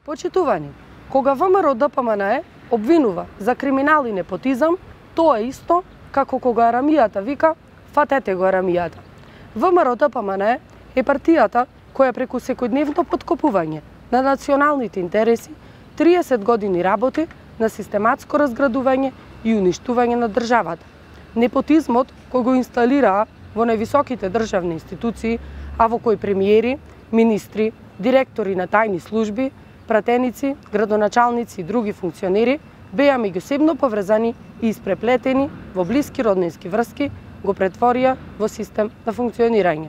Почитувани, кога ВМРО-ДПМНЕ обвинува за криминал и непотизам, тоа е исто како кога арамијата вика "фатете го арамијата". ВМРО-ДПМНЕ е партијата која преку секојдневно подкопување на националните интереси 30 години работи на систематско разградување и уништување на државата. Непотизмот кој го инсталираа во највисоките државни институции, а во кој премиери, министри, директори на тајни служби, пратеници, градоначалници и други функционери беа меѓусебно поврзани и испреплетени во блиски роднински врски, го претворија во систем на функционирање.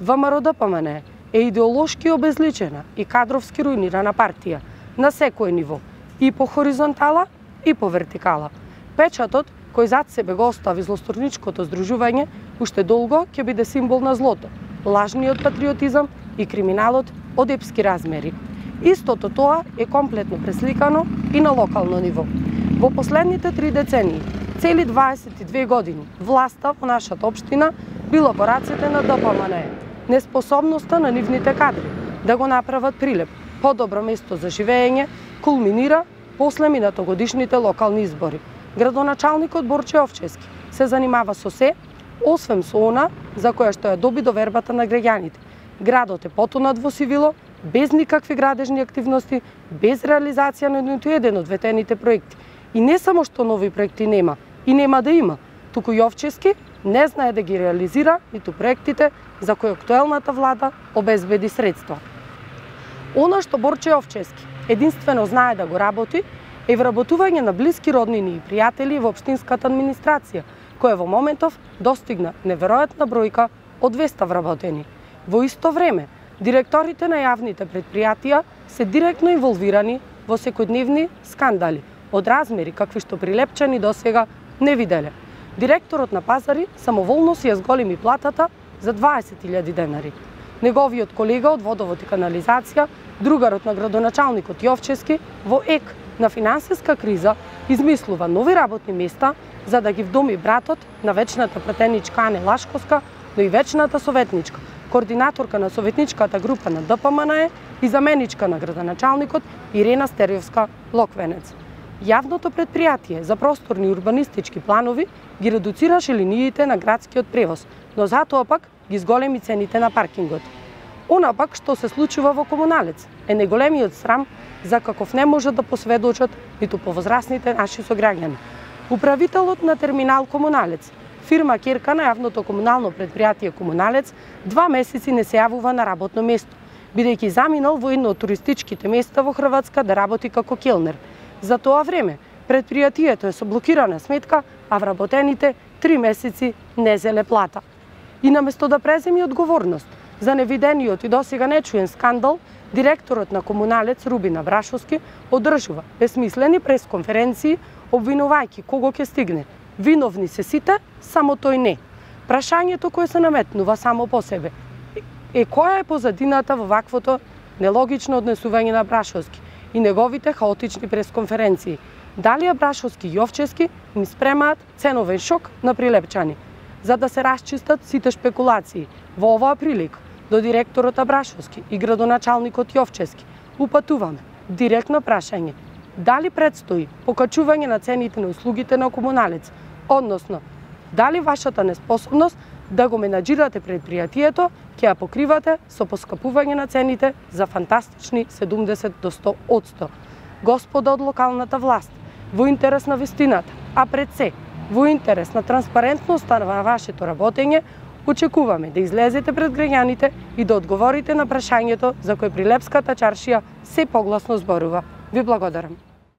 ВМРО-ДПМНЕ е идеолошки обезличена и кадровски руинирана партија на секој ниво, и по хоризонтала и по вертикала. Печатот кој зад себе го остави злосторничкото здружување уште долго ќе биде символ на злото, лажниот патриотизам и криминалот од епски размери. Истото тоа е комплетно пресликано и на локално ниво. Во последните 3 децении, цели 22 години, власта во нашата општина била во рацете на ДПМНЕ. Неспособноста на нивните кадри да го направат Прилеп подобро место за живење кулминира после минатогодишните локални избори. Градоначалникот Борче Овчевски се занимава со се, освен со она за која што ја доби довербата на граѓаните. Градот е потонат во сивило, без никакви градежни активности, без реализација на ниту еден од ветените проекти. И не само што нови проекти нема, и нема да има, туку Јовчевски не знае да ги реализира ниту проектите за кои актуелната влада обезбеди средства. Она што Борче Јовчевски единствено знае да го работи е вработување на блиски роднини и пријатели во општинската администрација, која во моментов достигна неверојатна бројка од 200 вработени. Во исто време, директорите на јавните предпријатија се директно инволвирани во секојдневни скандали од размери какви што прилепчани досега не виделе. Директорот на Пазари самоволно си ја зголеми платата за 20.000 денари. Неговиот колега од Водовод и канализација, другарот на градоначалникот Јовчевски, во ек на финансиска криза измислува нови работни места за да ги вдоми братот на вечната пратеничка Ане Лашковска, но и вечната советничка, координаторка на советничката група на ДПМНЕ и заменичка на градоначалникот Ирена Стериовска Локвенец. Јавното предпријатие за просторни урбанистички планови ги редуцираше линиите на градскиот превоз, но затоа пак ги зголеми цените на паркингот. Она пак што се случува во Комуналец е неголемиот срам за каков не може да посведочат ниту повозрасните наши сограѓани. Управителот на терминал Комуналец, фирма ќерка на јавното комунално предпријатие Комуналец, 2 месеци не се јавува на работно место, бидејќи заминал во едно од туристичките места во Хрватска да работи како келнер. За тоа време, предпријатието е со блокирана сметка, а вработените 3 месеци не зеле плата. И наместо да преземи одговорност за невидениот и досега нечуен скандал, директорот на Комуналец Рубина Брашовски одржува безсмислени пресконференции, обвинувајќи кого ќе стигне. Виновни се сите, само тој не. Прашањето кое се наметнува само по себе е која е позадината во ваквото нелогично однесување на Брашовски и неговите хаотични пресконференции. Дали Брашовски и Јовчевски им спремаат ценовен шок на прилепчани, за да се расчистат сите шпекулации. Во оваа прилика до директорот Брашовски и градоначалникот Јовчевски упатуваме директно прашање: дали предстои покачување на цените на услугите на Комуналец, односно дали вашата неспособност да го менаџирате предпријатието ќе ја покривате со поскапување на цените за фантастични 70 до 100%. Господа од локалната власт, во интерес на вистината, а пред се, во интерес на транспарентноста на вашето работење, очекуваме да излезете пред граѓаните и да одговорите на прашањето за кој Прилепската чаршија се погласно зборува. Ви благодарам.